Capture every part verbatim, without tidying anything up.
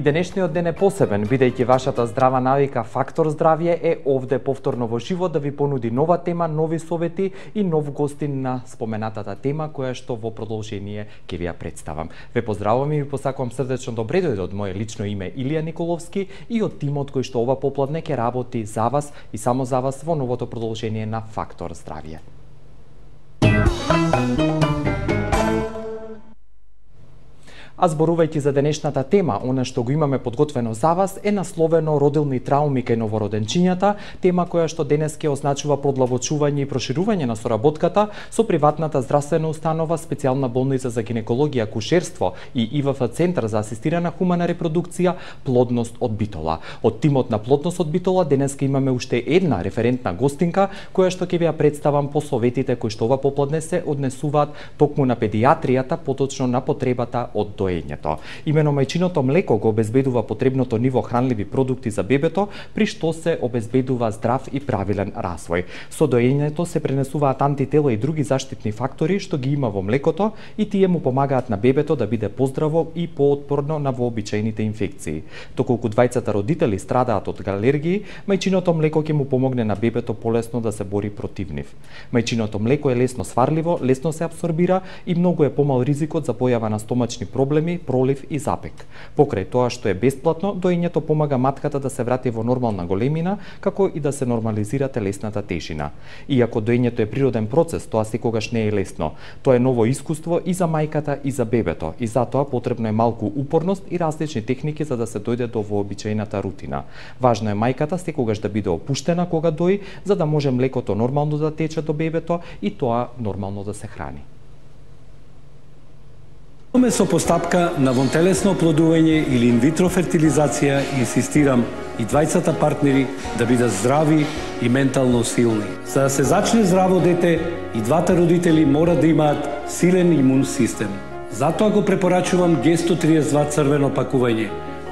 денешниот ден е посебен, бидејќи вашата здрава навика Фактор здравје е овде повторно во живот да ви понуди нова тема, нови совети и нов гостин на споменатата тема која што во продолжение ќе ви ја представам. Ве поздравувам и ви посакувам срдечно добре дојде од моје лично име Илија Николовски и од тимот кој што ова попладне ќе работи за вас и само за вас во новото продолжение на Фактор здравје. А зборувајќи за денешната тема, она што го имаме подготвено за вас е насловено родилни трауми кај новороденчињата, тема која што денес ќе означува продлабочување и проширување на соработката со приватната здравствена установа, специјална болница за гинекологија, акушерство и И В Ф Центар за асистирана хумана репродукција, плодност од Битола. Од тимот на плодност од Битола денеска имаме уште една референтна гостинка која што ќе ви ја представам по советите кои што ова попладне се однесуваат токму на педијатријата, поточно на потребата од доењето. Имено мајчиното млеко го обезбедува потребното ниво хранливи продукти за бебето, при што се обезбедува здрав и правилен развој. Со доењето се пренесуваат антитела и други заштитни фактори што ги има во млекото и тие му помагаат на бебето да биде поздраво и поотпорно на вообичаените инфекции. Доколку двајцата родители страдаат од алергии, мајчиното млеко ќе му помогне на бебето полесно да се бори против нив. Мајчиното млеко е лесно сварливо, лесно се апсорбира и многу е помал ризикот за појава на стомачни проблеми, пролив и запек. Покрај тоа што е бесплатно, доењето помага матката да се врати во нормална големина, како и да се нормализира телесната тежина. Иако доењето е природен процес, тоа секогаш не е лесно. Тоа е ново искуство и за мајката и за бебето, и затоа потребно е малку упорност и различни техники за да се дојде до вообичаената рутина. Важно е мајката секогаш да биде опуштена кога дои, за да може млекото нормално да тече до бебето и тоа нормално да се храни. Со постапка на вонтелесно оплодување или инвитро фертилизација инсистирам и двајцата партнери да бидат здрави и ментално силни. За да се зачне здраво дете, и двата родители мора да имаат силен имун систем. Затоа го препорачувам Г сто триесет и два црвено пакување,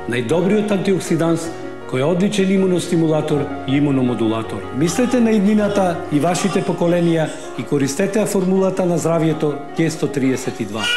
најдобриот антиоксиданс кој е одличен имуностимулатор и имуномодулатор. Мислете на иднината и вашите поколенија и користете формулата на здравјето Г сто триесет и два.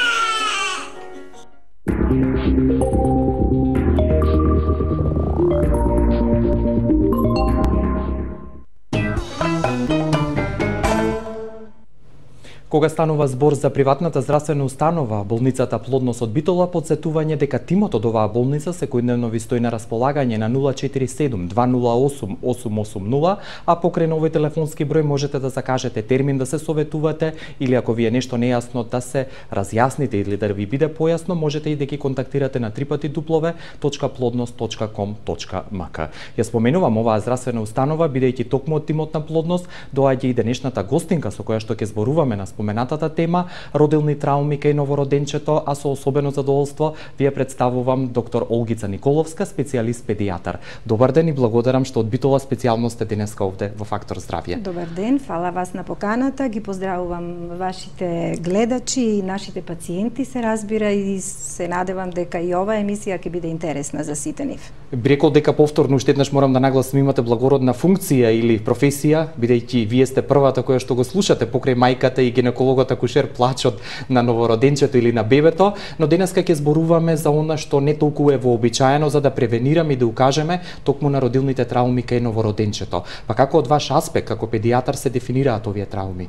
Кога станува збор за приватната здравствена установа, болницата Плодност од Битола, подсетување дека тимот од оваа болница секојдневно ви стои на располагање на нула четири седум два нула осум осум осум нула, а покрај овој телефонски број можете да закажете термин да се советувате или ако ви е нешто нејасно да се разјасните или да ви биде појасно, можете и да ги контактирате на три пати дуплове точка плодност точка ком точка ем ка. Ја споменувам оваа здравствена установа бидејќи токму од тимот на Плодност доаѓа и денешната гостинка со која што ќе зборуваме на споменатата тема родилни трауми кај новороденчето, а со особено задоволство ви ја представувам доктор Олгица Николовска, специјалист педијатар. Добар ден и благодарам што од Битола специјално сте денеска овде во Фактор здравје. Добар ден, фала вас на поканата, ги поздравувам вашите гледачи и нашите пациенти, се разбира, и се надевам дека и оваа емисија ќе биде интересна за сите нив. Би рекол дека повторно уште еднаш морам да нагласам имате благородна функција или професија, бидејќи вие сте првата која што го слушате покрај мајката и гинекологот акушер плачот на новороденчето или на бебето, но денеска ќе зборуваме за она што не толку е вообичаено за да превенираме и да укажеме токму на родилните трауми кај новороденчето. Па како од ваш аспект, како педијатар се дефинираат овие трауми?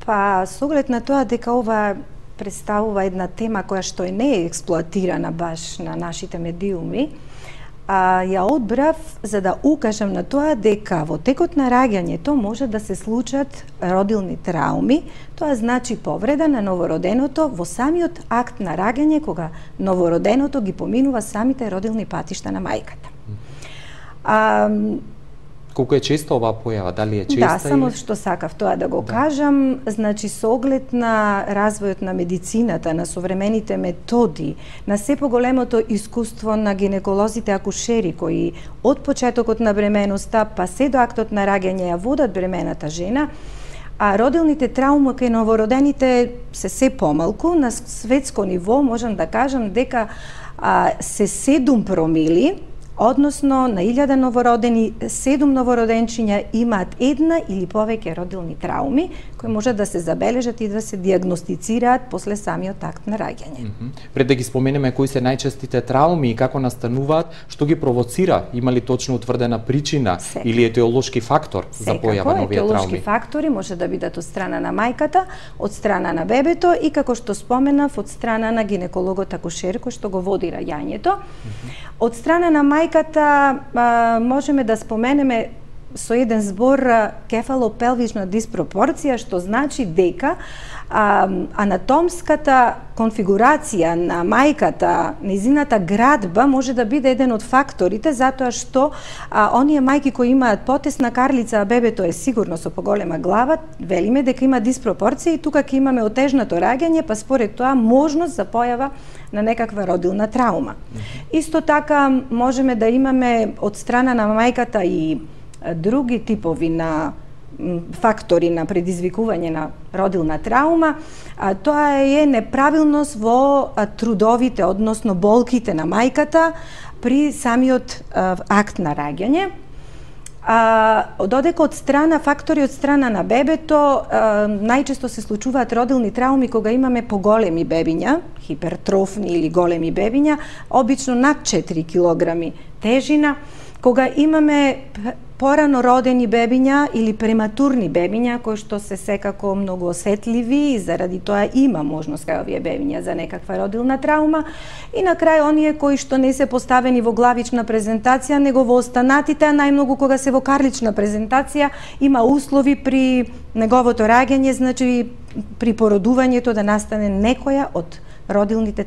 Па, со оглед на тоа дека ова представува една тема која што не е експлоатирана баш на нашите медиуми, А, ја одбрав за да укажам на тоа дека во текот на раѓањето може да се случат родилни трауми, тоа значи повреда на новороденото во самиот акт на раѓање кога новороденото ги поминува самите родилни патишта на мајката. А, Колку е често оваа појава? Дали е честа? Да, само или... што сакав тоа да го да. кажам, значи со оглед на развојот на медицината, на современите методи, на се поголемото искуство на гинеколозите акушери кои од почетокот на бременоста па се до актот на раѓање ја водат бремената жена, а родилните трауми кај новородените се се помалку. На светско ниво можам да кажам дека а, се седум промили Односно, на илјада новородени, седум новороденчиња имаат една или повеќе родилни трауми, кои може да се забележат и да се диагностицираат после самиот акт на раѓање. Mm -hmm. Пред да ги споменеме кои се најчестите трауми и како настануваат, што ги провоцира? Има ли точно утврдена причина Секако. Или етиолошки фактор Секако, за појава на овие трауми? Етиолошки фактори може да бидат од страна на мајката, од страна на бебето и, како што споменав, од страна на гинекологот акушер кој што го води раѓањето. Mm -hmm. Од страна на мајката а, можеме да споменеме со еден збор кефалопелвична диспропорција, што значи дека а, анатомската конфигурација на мајката, незината градба може да биде еден од факторите, затоа што а, оние мајки кои имаат потесна карлица, а бебето е сигурно со поголема глава, велиме дека има диспропорција и тука ќе имаме отежнато раѓање, па според тоа можност за појава на некаква родилна траума. Mm-hmm. Исто така можеме да имаме од страна на мајката и други типови на фактори на предизвикување на родилна траума, а тоа е неправилност во трудовите, односно болките на мајката при самиот а, акт на раѓање. А, додека од страна фактори од страна на бебето, а, најчесто се случуваат родилни трауми кога имаме поголеми бебиња, хипертрофни или големи бебиња, обично над четири килограми тежина, кога имаме порано родени бебиња или прематурни бебиња кои што се секако многу осетливи и заради тоа има можност кај овие бебиња за некаква родилна траума, и на крај оние кои што не се поставени во главична презентација, него во останатите, а најмногу кога се во карлична презентација, има услови при неговото раѓање, значи при породувањето да настане некоја од родилните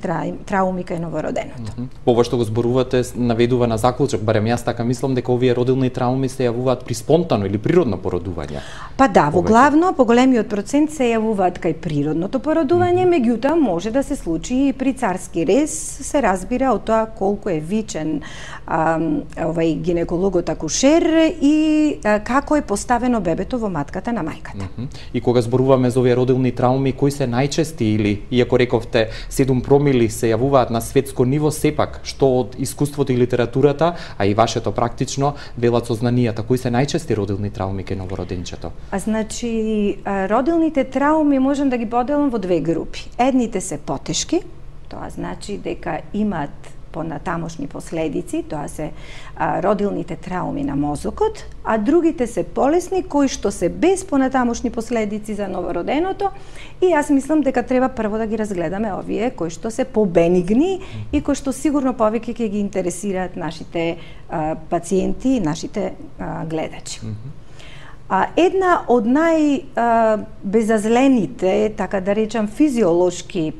трауми кај новороденото. Mm -hmm. Ова што го зборувате наведува на заклучок, барем јас така мислам дека овие родилни трауми се јавуваат при спонтано или природно породување. Па да, во главно поголемиот процент се јавуваат кај природното породување, mm -hmm. меѓутоа може да се случи и при царски рез, се разбира од тоа колку е вичен а, овај гинекологот акушер и а, како е поставено бебето во матката на мајката. Mm -hmm. И кога зборуваме за овие родилни трауми, кои се најчести или, иако рековте, седум промили се јавуваат на светско ниво, сепак, што од искуството и литературата, а и вашето практично, велат со знанијата, кои се најчести родилни трауми кај новороденчето? А значи, родилните трауми можам да ги поделам во две групи. Едните се потешки, тоа значи дека имаат понатамошни последици, тоа се а, родилните трауми на мозокот, а другите се полесни, кои што се без понатамошни последици за новороденото, и јас мислам дека треба прво да ги разгледаме овие кои што се побенигни и кои што сигурно повеќе ќе ги интересираат нашите а, пациенти и нашите а, гледачи. Mm -hmm. А, една од најбезазлените, така да речам, физиолошки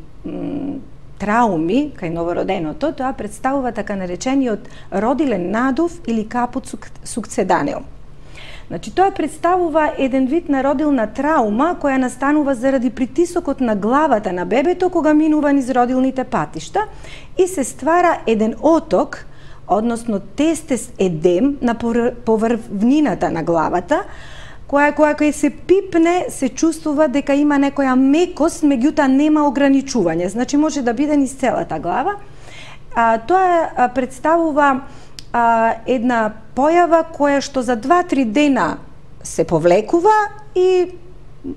трауми кај новороденото, тоа представува така наречениот родилен надув или капут сукцеданеум. Значи, тоа представува еден вид на родилна траума која настанува заради притисокот на главата на бебето кога минува низ родилните патишта и се ствара еден оток, односно тестес едем на поврвнината на главата, која која која се пипне, се чувствува дека има некоја мекост, меѓутоа нема ограничување. Значи може да биде низ целата глава. А, тоа а, представува а, една појава која што за два-три дена се повлекува и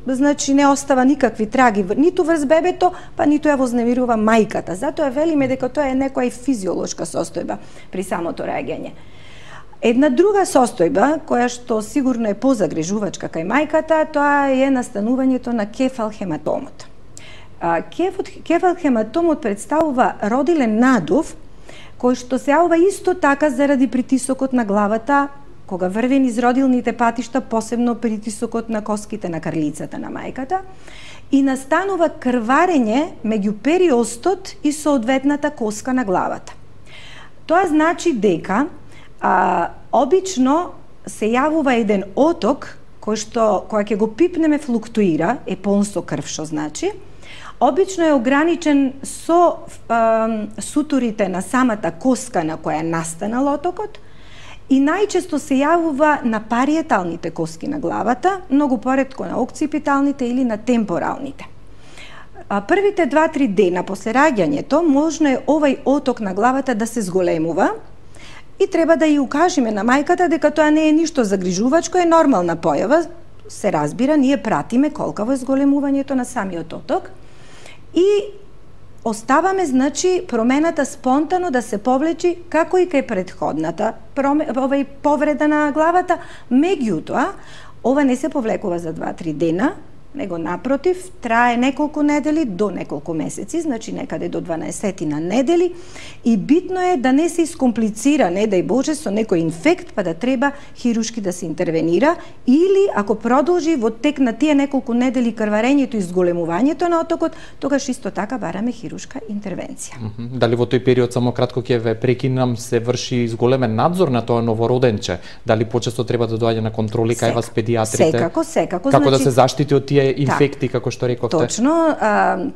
значи не остава никакви траги ниту врз бебето, па ниту ја вознемирува мајката. Затоа велиме дека тоа е некоја физиолошка состојба при самото раѓање. Една друга состојба, која што сигурно е позагрижувачка кај мајката, тоа е настанувањето на кефалхематомот. Кефалхематомот представува родилен надув, кој што се јавува исто така заради притисокот на главата, кога врви низ родилните патишта, посебно притисокот на коските на карлицата на мајката, и настанува крварење меѓу периостот и соодветната коска на главата. Тоа значи дека А, обично се јавува еден оток кој што која ќе го пипнеме флуктуира, е полн со крв, што значи. Обично е ограничен со а, сутурите на самата коска на која е настанал отокот и најчесто се јавува на париеталните коски на главата, многу поретко на окципиталните или на темпоралните. А, првите два-три дена после раѓањето можно е овај оток на главата да се зголемува и треба да ја укажеме на мајката дека тоа не е ништо загрижувачко, е нормална појава. Се разбира, ние пратиме колкаво е зголемувањето на самиот оток и оставаме, значи, промената спонтано да се повлечи како и кај претходната овај повреда на главата. Меѓутоа, ова не се повлекува за два-три дена, него напротив, трае неколку недели до неколку месеци, значи некаде до дванаесет на недели, и битно е да не се искомплицира, не дај Боже, со некој инфект, па да треба хирушки да се интервенира, или ако продолжи во тек на тие неколку недели крварењето и зголемувањето на отокот, тогаш исто така бараме хирушка интервенција. Mm-hmm. Дали во тој период, само кратко ќе ве прекинам, се врши зголемен надзор на тоа новороденче? Дали почесто треба да доаѓа на контроли кај вас педиатрите? Секако, секако. Како значи, да се заштити од тие инфекти, так, како што рековте? Точно, а,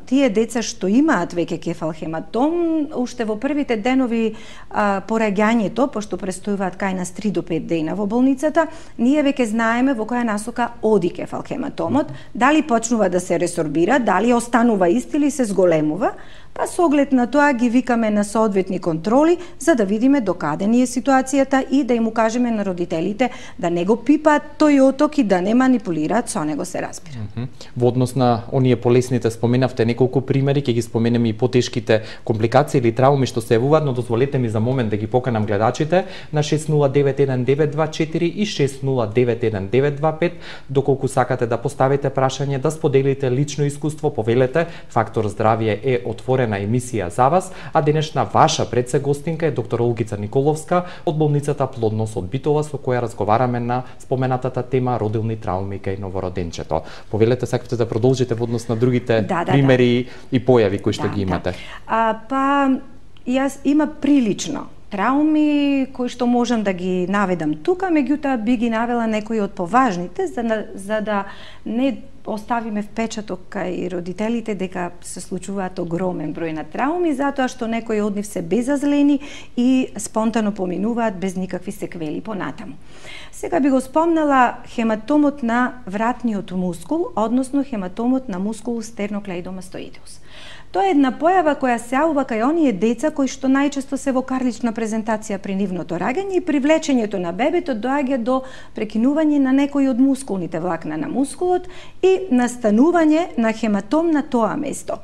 тие деца што имаат веќе кефалхематом, уште во првите денови а, по раѓањето, пошто престојуваат кај нас три до пет дена во болницата, ние веќе знаеме во која насока оди кефалхематомот, дали почнува да се ресорбира, дали останува ист или се зголемува, па со оглед на тоа ги викаме на соодветни контроли за да видиме докаде ни е ситуацијата и да им укажеме на родителите да не го пипаат тој оток и да не манипулираат со него, се разбира. Mm -hmm. Во однос на оние полесните споменавте неколку примери, ќе ги споменеме и потешките компликации или трауми што се јавуваат, но дозволете ми за момент да ги поканам гледачите на шест нула девет еден девет два четири и шест нула девет еден девет два пет, доколку сакате да поставите прашање, да споделите лично искуство, повелете. Фактор здравје е отворена емисија за вас, а денешна ваша предсегостинка е доктор Олгица Николовска од болницата Плодност од Битола, со која разговараме на споменатата тема родилни трауми кај новороденчето. Повелете, сакате да продолжите во однос на другите да, да, примери да. и појави кои што да, ги имате? Да. А, па, јас има прилично трауми кои што можам да ги наведам тука, меѓутоа би ги навела некои од поважните, за, за да не оставиме впечаток кај родителите дека се случуваат огромен број на трауми, затоа што некои од нив се безазлени и спонтано поминуваат без никакви секвели понатаму. Сега би го спомнала хематомот на вратниот мускул, односно хематомот на мускул стерноклеидомастоидеус. Тоа е една појава која се јавува кај оние деца кои што најчесто се во карлична презентација при нивното раѓање и привлечењето на бебето доаѓа до прекинување на некои од мускулните влакна на мускулот и настанување на хематом на тоа место.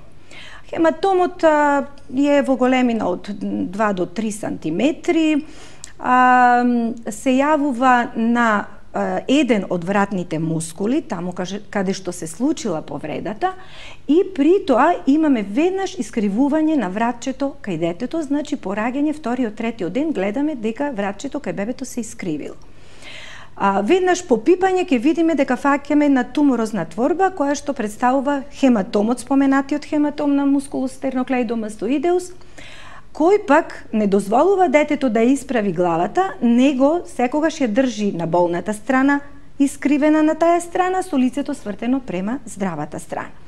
Хематомот а, е во големина од два до три сантиметри, а, се јавува на еден од вратните мускули, таму каде што се случила повредата, и при тоа имаме веднаш искривување на вратчето кај детето, значи по раѓање вториот, третиот ден гледаме дека вратчето кај бебето се искривило. А, веднаш по пипање ќе видиме дека фаќаме на туморозна творба која што представува хематомот, споменатиот хематом на мускулус стерноклеидомастоидеус, кој пак не дозволува детето да исправи главата, него секогаш ја држи на болната страна, искривена на таа страна, со лицето свртено према здравата страна.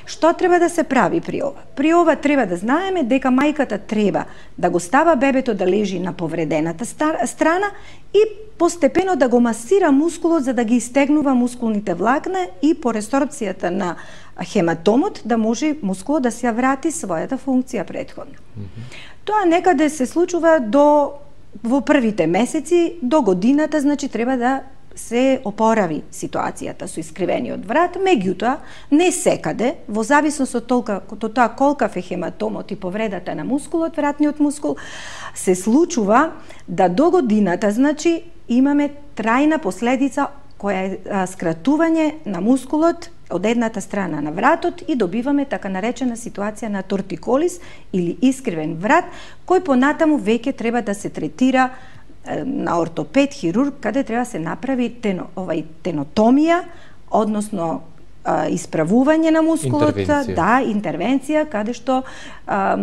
Што треба да се прави при ова? При ова треба да знаеме дека мајката треба да го става бебето да лежи на повредената страна и постепено да го масира мускулот за да ги истегнува мускулните влакна и по ресорбцијата на хематомот да може мускулот да се врати својата функција претходно. Mm -hmm. Тоа некаде се случува до во првите месеци, до годината, значи треба да се опорави ситуацијата со искривениот врат, меѓутоа не секаде, во зависност од толка, од тоа колкав е хематомот и повредата на мускулот, вратниот мускул, се случува да до годината, значи, имаме трајна последица која е скратување на мускулот од едната страна на вратот и добиваме така наречена ситуација на тортиколис или искривен врат, кој понатаму веќе треба да се третира на ортопед, хирург, каде треба се направи тено, овај тенотомија, односно а, исправување на мускулот, интервенција. да, интервенција, каде што а,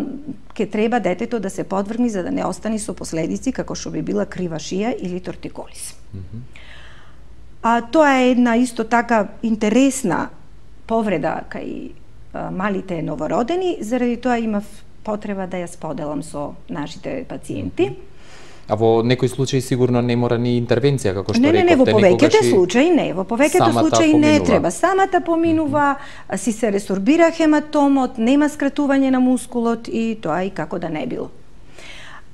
ке треба детето да се подвргни за да не остане со последици како што би била крива шија или тортиколис. Mm -hmm. А тоа е една исто така интересна повреда кај а, малите новородени, заради тоа имав потреба да ја споделам со нашите пациенти. Mm -hmm. А во некои случаи сигурно не мора ни интервенција, како што не, рековте. Не, не, во повеќето случаи не. Во повеќето случаи не треба. Самата поминува, mm -hmm. си се ресорбира хематомот, нема скратување на мускулот и тоа и како да не било.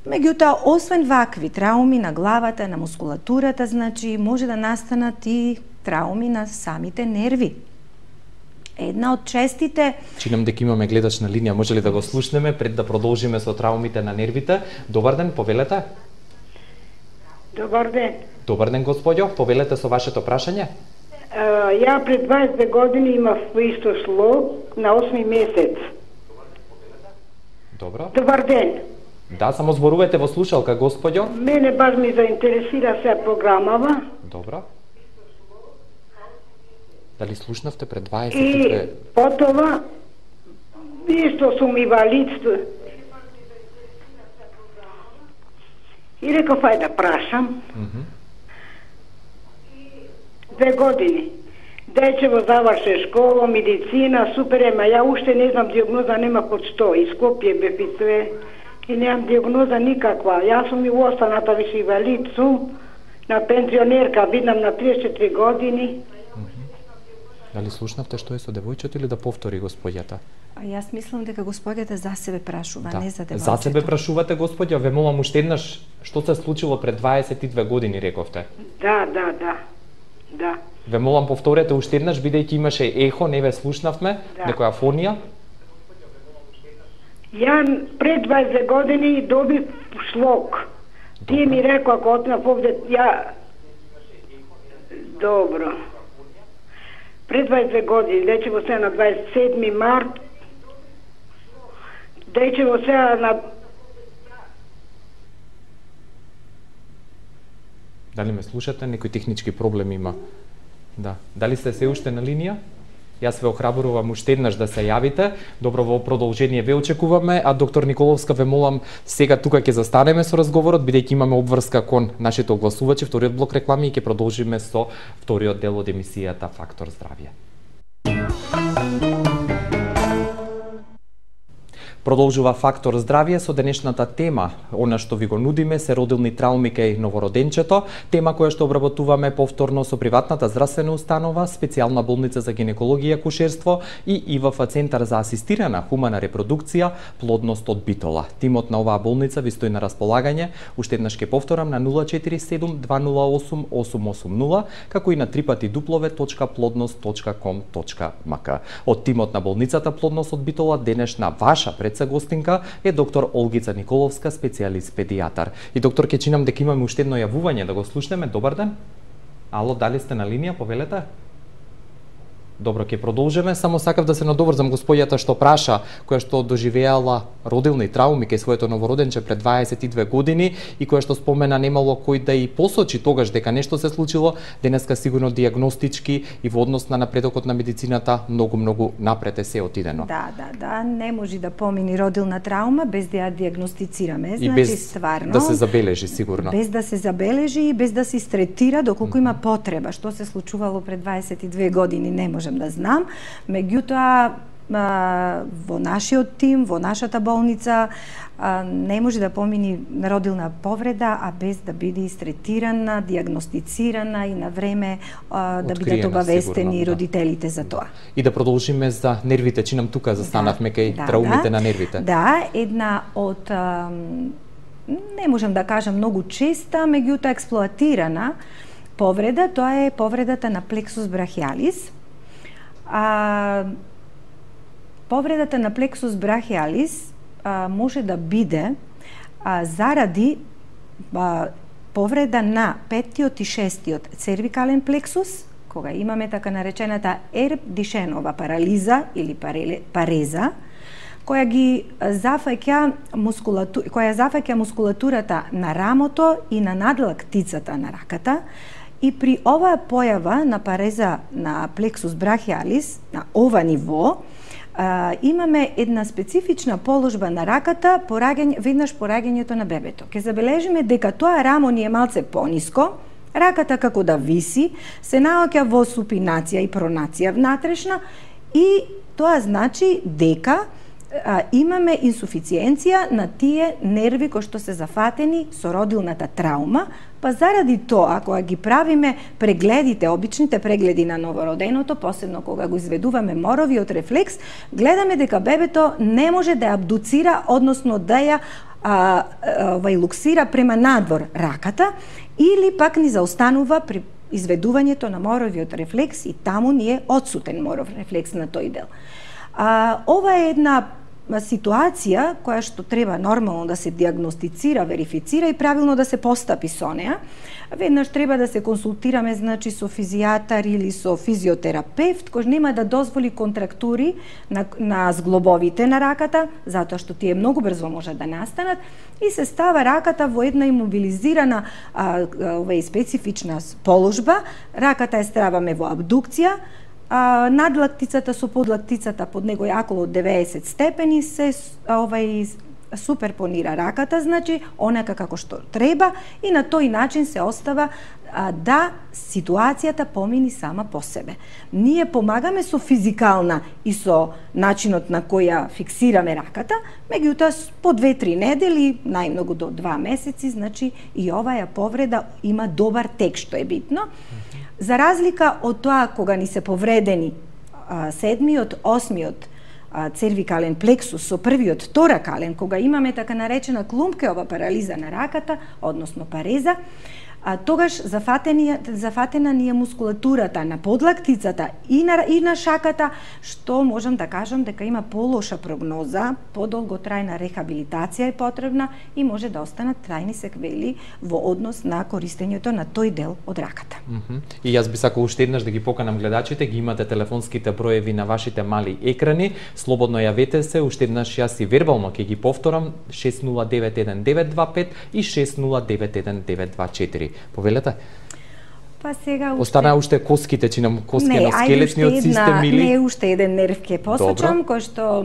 Меѓутоа, освен вакви трауми на главата, на мускулатурата, значи може да настанат и трауми на самите нерви. Една од честите... Чинам дека имаме гледач на линија, може ли да го слушнеме пред да продолжиме со траумите на нервите? Добар ден, повелете. Добар ден. Добар ден, господјо, повелете со вашето прашање. Uh, ја пред дваесет две години имав исто слог на осми месец. Добро. Добар ден. Да, само зборувате во слушалка, господјо. Мене баш ми заинтересира се програмава. Добро. Дали слушнавте пред дваесет И две... потова исто сум инвалид. И реков, ај да прашам. Mm -hmm. Две години. Дечево заврше школа, медицина, супер, ема ја уште не знам диагноза, нема под што. И Скопје бе све и немам диагноза никаква. Јас сум и останата више инвалид сум, на пензионерка, виднам на триесет и четири години. Дали слушнавте што е со девојчето или да повтори господјата? А јас мислам дека господјата за себе прашува, да. не за девојчето. За себе прашувате, господја, ве молам уште еднаш, што се случило пред дваесет и две години, рековте? Да, да, да. Да. Ве молам повторете уште еднаш, бидејќи имаше ехо, не ве слушнавме, да. Некоја фонија. Ја пред дваесет две години добив слог. Тие ми рекоа, ако отнав овде, ја... Добро. Пред дваесет две години, дечево сега на дваесет и седми март, дечево сега на... Дали ме слушате? Некој технички проблем има. Да. Дали сте се уште на линија? Јас ве охрабрувам уште еднаш да се јавите. Добро, во продолжение ве очекуваме, а доктор Николовска ве молам сега тука ќе застанеме со разговорот, бидејќи имаме обврска кон нашите огласувачи, вториот блок реклами и ќе продолжиме со вториот дел од емисијата Фактор здравје. Продолжува Фактор здравје со денешната тема. Она што ви го нудиме се родилни трауми кај новороденчето, тема која што обработуваме повторно со приватната здравствена установа, специјална болница за гинекологија и акушерство и ИВФ Центар за асистирана хумана репродукција, плодност од Битола. Тимот на оваа болница ви стои на располагање, уште еднаш ќе повторам, на нула четири седум два нула осум осум осум нула, како и на три пати дуплове точка плодност точка ком точка м к. Од тимот на болницата Плодност од Битола денешна ваша предса гостинка е доктор Олгица Николовска, специјалист педијатар. И доктор, ќе чинам дека имаме уште едно јавување, да го слушнеме. Добар ден. Ало, дали сте на линија, повелете? Добро, ќе продолжиме. Само сакав да се надоврзам господјата што праша, која што доживеала родилни трауми кај своето новороденче пред дваесет и две години и која што спомена немало кој да и посочи тогаш дека нешто се случило. Денеска сигурно дијагностички и во однос на напредокот на медицината многу многу напред е се отидено. Да, да, да, не може да помини родилна траума без да ја дијагностицираме, значи и без стварно да се забележи сигурно. Без да се забележи и без да се истретира доколку mm -hmm. има потреба. Што се случувало пред дваесет и две години не може да знам, меѓутоа во нашиот тим, во нашата болница не може да помини родилна повреда, а без да биде истретирана, дијагностицирана и на време да Откриена, бидат обавестени сигурно, родителите да. за тоа. И да продолжиме за нервите, чинам тука застанавме кај да, траумите да, на нервите. Да, една од не можам да кажам многу честа, меѓутоа експлоатирана повреда, тоа е повредата на плексус брахиалис. А, повредата на плексус брахиалис а, може да биде а, заради а, повреда на петтиот и шестиот цервикален плексус, кога имаме така наречената Ерб Дишенова парализа или пареза, која ги зафаќа мускулату... која зафаќа мускулатурата на рамото и на надлактицата на раката. И при оваа појава на пареза на плексус брахиалис, на ова ниво, а, имаме една специфична положба на раката пораѓање, веднаш пораѓањето на бебето. Ке забележиме дека тоа рамо ни е малце пониско, раката како да виси, се наоѓа во супинација и пронација внатрешна и тоа значи дека а, имаме инсуфициенција на тие нерви кои што се зафатени со родилната траума. Па заради тоа, кога ги правиме прегледите, обичните прегледи на новороденото, посебно кога го изведуваме моровиот рефлекс, гледаме дека бебето не може да ја абдуцира, односно да ја а, ова луксира према надвор раката или пак ни заостанува при изведувањето на моровиот рефлекс и таму ни е отсутен моров рефлекс на тој дел. А, ова е една ситуација која што треба нормално да се диагностицира, верифицира и правилно да се постапи со неа. Веднаш треба да се консултираме, значи, со физијатар или со физиотерапевт, кој нема да дозволи контрактури на, на зглобовите на раката, затоа што тие многу брзо можат да настанат, и се става раката во една имобилизирана а, а, специфична положба. Раката е ставаме во абдукција, А, надлактицата со подлактицата под него е околу деветдесет степени, се овај суперпонира раката, значи онака како што треба, и на тој начин се остава а, да ситуацијата помини сама по себе. Ние помагаме со физикална и со начинот на која фиксираме раката, меѓутоа по две-три недели, најмногу до два месеци, значи и оваа повреда има добар тек, што е битно. За разлика од тоа кога ни се повредени а, седмиот, осмиот а, цервикален плексус со првиот торакален, кога имаме така наречена клумпкеова парализа на раката, односно пареза, а, тогаш зафатена ни е мускулатурата на подлактицата и на, и на шаката, што можам да кажам дека има полоша прогноза, подолготрајна рехабилитација е потребна и може да останат трајни секвели во однос на користењето на тој дел од раката. Mm -hmm. И јас би сакал уште еднаш да ги поканам гледачите, ги имате телефонските броеви на вашите мали екрани, слободно јавете се, уште еднаш јас и вербално ќе ги повторам, шест нула девет еден девет два пет и шест нула девет еден девет два четири. Повелете? Па сега уште... Остана уште коските, чи нам коскено-скелетниот систем или... Не, уште еден нерв ке посочам, кој што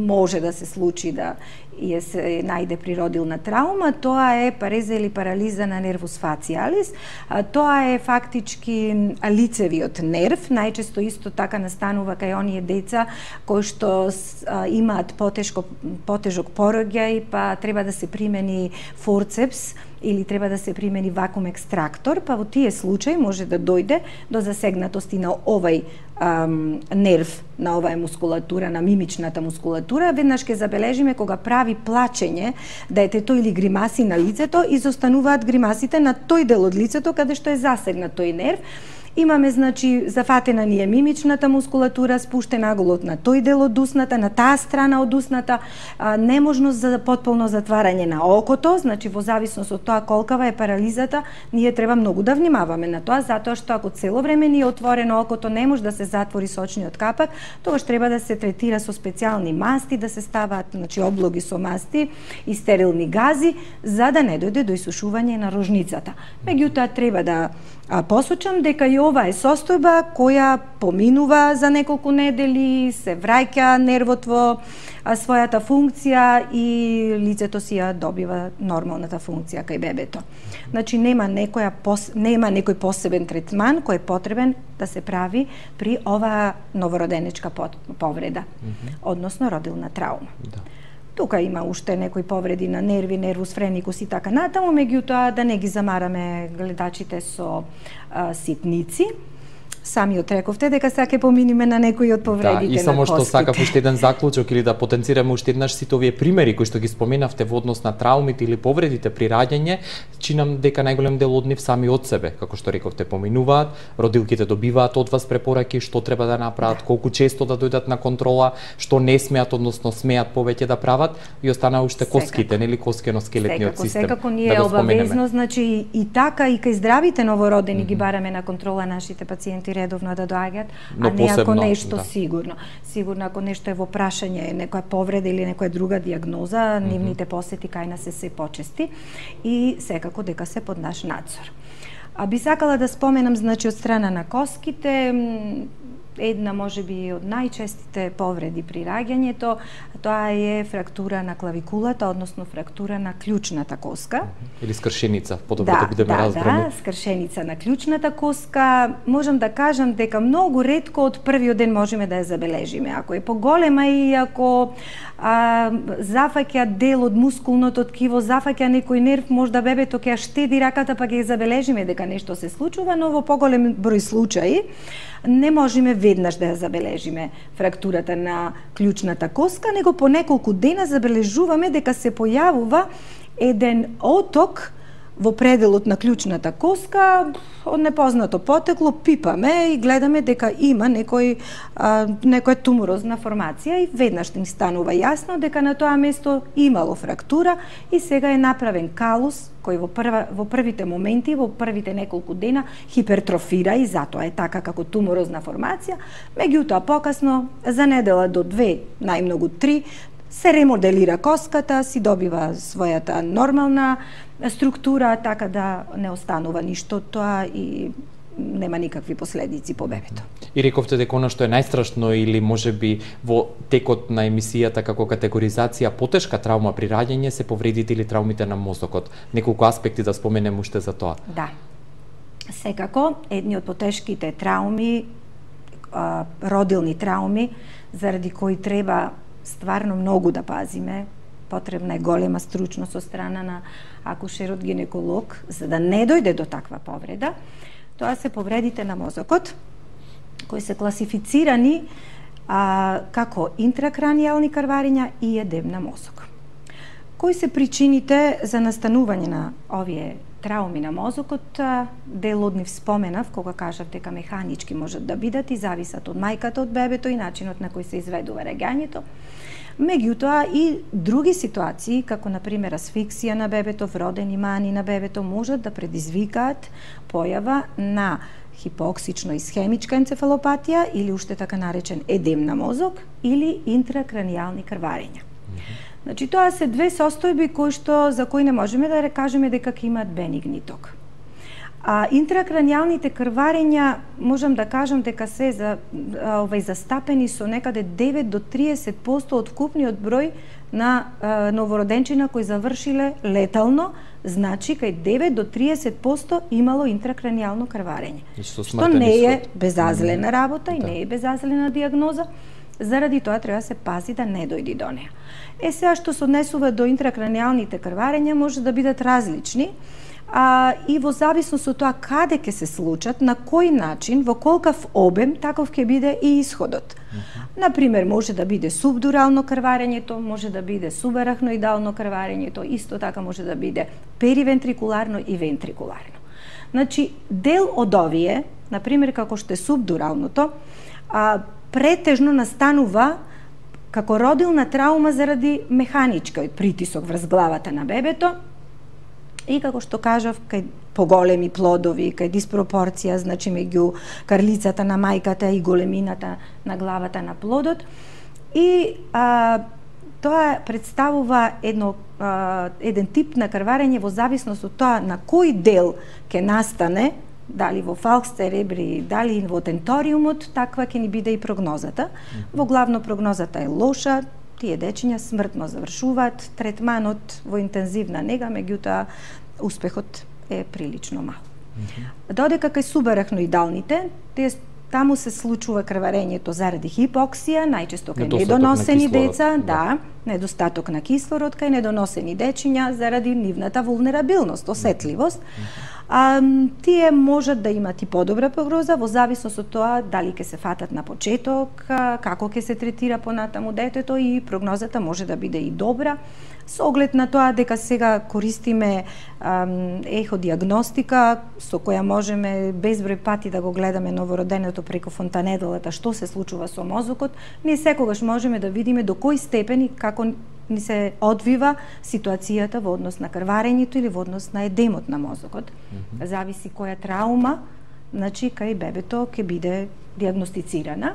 може да се случи да и се најде природилна травма, тоа е пареза или парализа на нервус фациалис. Тоа е фактички лицевиот нерв, најчесто исто така настанува кај оние деца кои што имаат потешко, потежок пороѓај, па треба да се примени форцепс или треба да се примени вакуум екстрактор, па во тие случаи може да дојде до засегнатости на овај ам, нерв, на оваа мускулатура, на мимичната мускулатура. Веднаш ќе забележиме кога прави плачење детето или гримаси на лицето, изостануваат гримасите на тој дел од лицето каде што е засегнат тој нерв. Имаме, значи, зафатена ни е мимичната мускулатура, спуштен аголот на тој дел од усната, на таа страна од усната, а, неможност за потполно затварање на окото, значи во зависност од тоа колкава е парализата, ние треба многу да внимаваме на тоа, затоа што ако цело време ни е отворено окото, не може да се затвори сочниот капак, тогаш треба да се третира со специјални масти, да се ставаат, значи, облоги со масти и стерилни гази, за да не дојде до исушување на рожницата. Меѓутоа треба да А посочам дека и ова е состојба која поминува за неколку недели, се враќа нервот во својата функција и лицето си ја добива нормалната функција кај бебето. Значи нема некоја пос... нема некој посебен третман кој е потребен да се прави при оваа новороденечка повреда, mm-hmm. односно родилна травма. Да. Тука има уште некои повреди на нерви, нервус френикус и така натаму, меѓутоа да не ги замараме гледачите со а, ситници. Самиот рековте дека сега ќе поминиме на некои од повредите на коските. Да, и само што сакав уште еден заклучок или да потенцираме уште еднаш сите овие примери кои што ги споменавте во однос на траумите или повредите при раѓање, чинам дека најголем дел од нив сами од себе, како што рековте, поминуваат, родилките добиваат од вас препораки што треба да направат, колку често да дојдат на контрола, што не смеат, односно смеат повеќе да прават, и остана уште коските, нели, коскено-скелетниот систем. Секако ние е обавезно, значи и така и кај здравите новородени mm-hmm. ги бараме на контрола нашите пациенти редовно да доаѓаат, а не ако нешто да. сигурно. Сигурно ако нешто е во прашање, некоја повреда или некоја друга диагноза, mm-hmm. нивните посети кај нас се се почести и секако дека се под наш надзор. А би сакала да споменам, значи, од страна на коските, една можеби од најчестите повреди при раѓањето, тоа е фрактура на клавикулата, односно фрактура на клучната коска. Или скршеница, подобро да, да бидеме да, разбрани. Да, скршеница на клучната коска. Можам да кажам дека многу ретко од првиот ден можеме да ја забележиме. Ако е поголема и ако а, зафаќа дел од мускулното ткиво, зафаќа некој нерв, можда бебето ќе ја штеди раката па ќе ја забележиме дека нешто се случува, но во поголем број случаи не можеме веднаш да ја забележиме фрактурата на клучната коска, него по неколку дена забележуваме дека се појавува еден оток во пределот на клучната коска од непознато потекло, пипаме и гледаме дека има некој а, некоја туморозна формација и веднаш ни станува јасно дека на тоа место имало фрактура и сега е направен калус кој во прва во првите моменти, во првите неколку дена хипертрофира и затоа е така како туморозна формација, меѓутоа покасно за недела до две, најмногу три, се ремоделира коската, си добива својата нормална структура, така да не останува ништо тоа и нема никакви последици по бебето. И рековте дека она што е најстрашно или можеби во текот на емисијата како категоризација потешка травма при раѓање се повредите или травмите на мозокот. Неколку аспекти да споменем уште за тоа. Да. Секако, едни од потешките травми, а, родилни травми, заради кои треба стварно многу да пазиме, потребна е голема стручност од страна на акушерот гинеколог, за да не дојде до таква повреда. Тоа се повредите на мозокот, кои се класифицирани а, како интракранијални крварења и едем на мозок. Кои се причините за настанување на овие трауми на мозокот? Дел од нив споменав кога кажав дека механички можат да бидат и зависат од мајката, од бебето и начинот на кој се изведува раѓањето. Меѓутоа и други ситуации, како на пример асфиксија на бебето, вродени мани на бебето, можат да предизвикаат појава на хипоксично исхемичка енцефалопатија или уште така наречен едем на мозок или интракранијални крварења. Значи тоа се две состојби кои што за кои не можеме да кажеме дека ќе имаат бенигни ток. А интракранијалните крварења можам да кажам дека се за овај застапени со некаде девет до триесет проценти од вкупниот број на а, новороденчина кои завршиле летално, значи кај девет до триесет проценти имало интракранијално крварење. Што не е безазлена работа и не е безазлена диагноза, заради тоа треба се пази да не дојди до неа. Е сега што се однесува до интракранијалните крварења може да бидат различни, а, и во зависност од тоа каде ќе се случат, на кој начин, во колкав обем, таков ќе биде и исходот. Uh-huh. Например, може да биде субдурално крварењето, може да биде субарахноидално крварењето, исто така може да биде перивентрикуларно и вентрикуларно. Значи, дел од овие, например, како што е субдуралното, а, претежно настанува како родилна траума заради механичкиот притисок врз главата на бебето и како што кажав, кај поголеми плодови, кај диспропорција, значи меѓу карлицата на мајката и големината на главата на плодот. И а, тоа представува едно, а, еден тип на крварење во зависност од тоа на кој дел ќе настане, дали во фалкс церебри, дали во тенториумот, таква ќе ни биде и прогнозата. Во главно прогнозата е лоша, тие дечиња смртно завршуваат, третманот во интензивна нега, меѓутоа успехот е прилично мал. Mm-hmm. Додека кај субарахноидалните, тие таму се случува крварењето заради хипоксија, најчесто кај недоносени деца, да, да, недостаток на кислород кај недоносени дечиња заради нивната вулнерабилност, осетливост. Mm-hmm. А, тие можат да имат и подобра прогноза во зависност од тоа дали ќе се фатат на почеток, како ќе се третира понатаму детето и прогнозата може да биде и добра, со оглед на тоа дека сега користиме ам, еходиагностика со која можеме безброј пати да го гледаме новороденето преку фонтанедалата што се случува со мозокот, ние секогаш можеме да видиме до кој степен и како ни се одвива ситуацијата во однос на крварењето или во однос на едемот на мозокот. Mm-hmm. Зависи која траума, значи кај бебето ќе биде диагностицирана.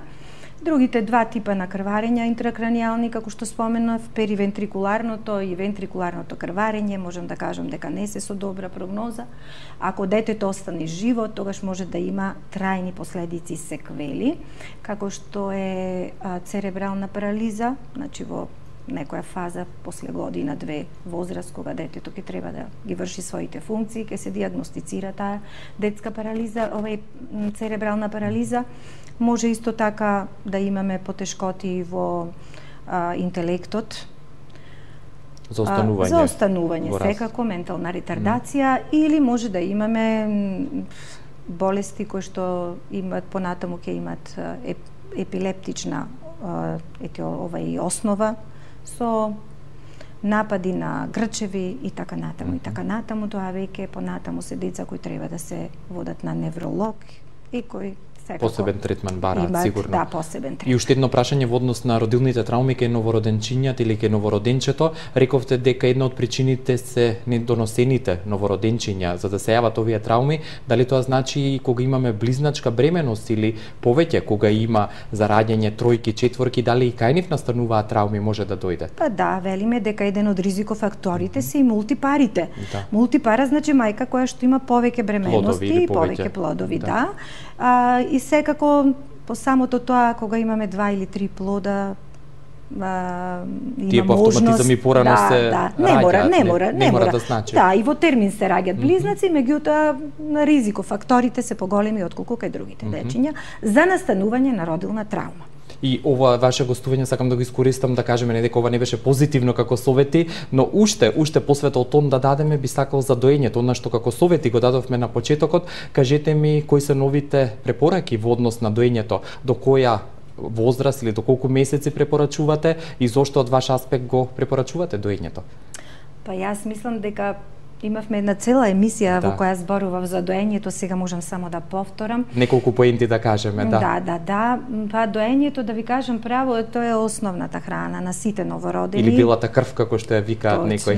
Другите два типа на крварења интракранијални, како што споменав, перивентрикуларното и вентрикуларното крварење, можам да кажам дека не се со добра прогноза. Ако детето остане живо, тогаш може да има трајни последици, секвели, како што е а, церебрална парализа, значи во некоја фаза после година, две возраст, кога детето ќе треба да ги врши своите функции, ќе се диагностицира таа детска парализа, овај церебрална парализа. Може исто така да имаме потешкоти во а, интелектот, за останување, а, за останување секако, ментална ретардација, mm. или може да имаме болести кои што имат понатаму ќе имат еп, епилептична ете ова и основа со напади на грчеви и така натаму. И така натаму, тоа веќе понатаму се деца кои треба да се водат на невролог и кои секако посебен третман бараат имат, сигурно. Да, посебен третман. И уште едно прашање во однос на родилните трауми кај новороденчињата или кај новороденчето. Рековте дека една од причините се недоносените новороденчиња за да се јават овие трауми. Дали тоа значи и кога имаме близначка бременост или повеќе кога има за раѓање тројки, четворки, дали и кај нив настануваат трауми може да дојде? Па да, велиме дека еден од ризикофакторите се и мултипарите. Да. Мултипара значи мајка која што има повеќе бременности и повеќе плодови, да. да. А, и секако по самото тоа кога имаме два или три плода а, има тие по автоматизам и порано да, се да, не мора, не мора, не, не мора да значи. Да, и во термин се раѓаат близнаци, меѓутоа на ризикофакторите се поголеми отколку кај другите Mm-hmm. дечиња за настанување на родилна траума. И ова ваше гостување сакам да го искористам да кажеме не дека ова не беше позитивно како совети, но уште уште посветол тон да дадеме би сакал за доењето, она што како совети го дадовме на почетокот. Кажете ми кои се новите препораки во однос на доењето, до која возраст или до колку месеци препорачувате и зошто од ваш аспект го препорачувате доењето? Па јас мислам дека имавме една цела емисија да. во која зборував за доењето, сега можам само да повторам. Неколку поенти да кажеме, да. Да, да, да. Па доењето, да ви кажам право, тоа е основната храна на сите новородени. Или белата крв, како што ја викаат некои.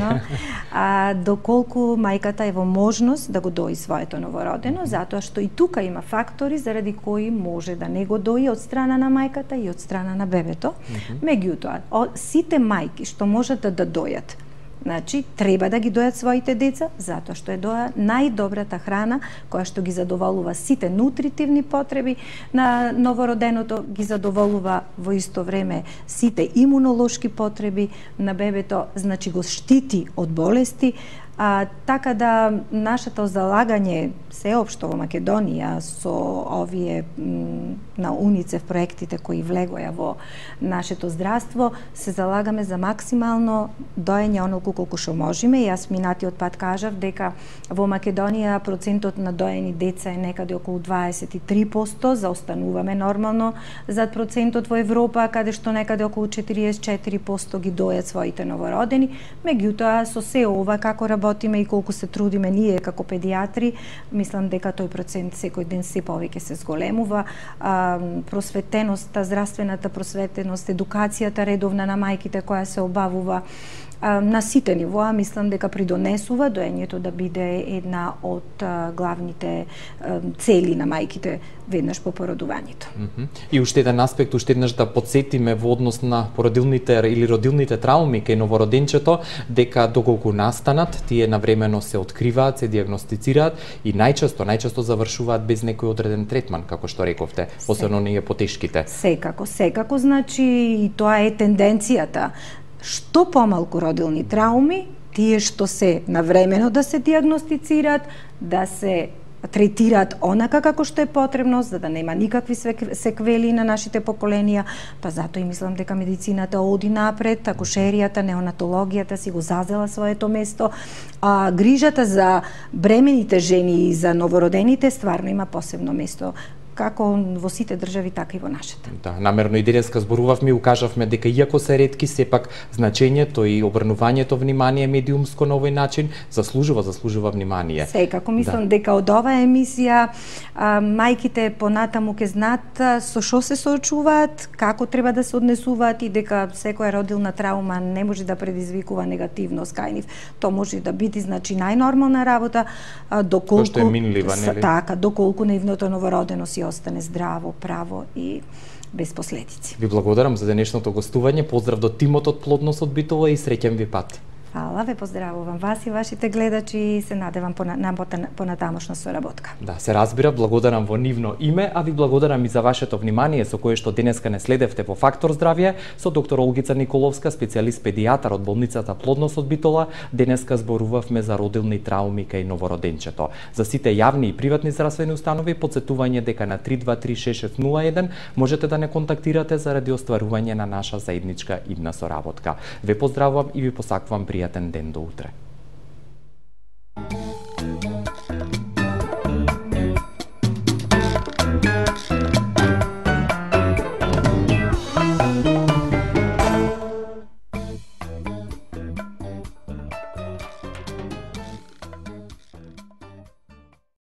А доколку мајката е во можност да го дои своето новородено, затоа што и тука има фактори заради кои може да не го дои од страна на мајката и од страна на бебето. Mm-hmm. Меѓутоа, сите мајки што можат да, да дојат, значи, треба да ги дојат своите деца, затоа што е доа најдобрата храна која што ги задоволува сите нутритивни потреби на новороденото, ги задоволува во исто време сите имунолошки потреби на бебето, значи го штити од болести. А, така да нашето залагање сеопшто во Македонија со овие м, на УНИЦЕФ проектите кои влегоја во нашето здравство, се залагаме за максимално доење онолку колку што можеме. Јас минатиот пат кажав дека во Македонија процентот на доени деца е некаде околу дваесет и три проценти, заостануваме нормално зад процентот во Европа, каде што некаде околу четириесет и четири проценти ги дојат своите новородени. Меѓутоа, со се ова како работиме и колку се трудиме ние како педиатри, мислам дека тој процент секој ден се повеќе се зголемува. А, просветеноста, здравствената просветеност, едукацијата редовна на мајките која се обавува а, на сите нивоа, мислам дека придонесува доењето да биде една од а, главните а, цели на мајките веднаш по породувањето. Mm-hmm. И уште еден аспект, уште еднаш да подсетиме во однос на породилните или родилните трауми кај новороденчето, дека доколку настанат, тие навремено се откриваат, се диагностицираат и најчесто, најчесто завршуваат без некој одреден третман, како што рековте, особено ние потешките. Секако, секако, значи и тоа е тенденцијата. Што помалку родилни трауми, тие што се навремено да се диагностицираат, да се третираат онака како што е потребно, за да нема никакви секвели на нашите поколенија, па затоа и мислам дека медицината оди напред, акушеријата, неонатологијата си го зазела своето место, а грижата за бремените жени и за новородените стварно има посебно место, како во сите држави, така и во нашата. Да, намерно и денеска зборувавме и укажавме дека иако се ретки, сепак значењето и обрнувањето внимание медиумско на овој начин заслужува, заслужува внимание. Секако, мислам да. дека од оваа емисија а, мајките понатаму ќе знаат со што се соочуваат, како треба да се однесуваат и дека секоја родилна траума не може да предизвикува негативност кај нив. Тоа може да биде, значи, најнормална работа, а, доколку... Тоа што е минлива, нели? Така, доколку нивното новородено си остане здраво, право и без последици. Ви благодарам за денешното гостување. Поздрав до тимот од Плодност од Битола и среќен ви пат. Фала, ве поздравувам вас и вашите гледачи и се надевам понатамошна соработка. Да, се разбира, благодарам во нивно име, а ви благодарам и за вашето внимание со кое што денеска не следевте во Фактор здравје со доктор Олгица Николовска, специјалист педијатар од болницата Плодност од Битола. Денеска зборувавме за родилни трауми кај новороденчето. За сите јавни и приватни здравствени установи потсетување дека на три два три шест шест нула еден можете да не контактирате заради остварување на наша заедничка идна соработка. Ве поздравувам и ви посакувам пријатен ден до утре.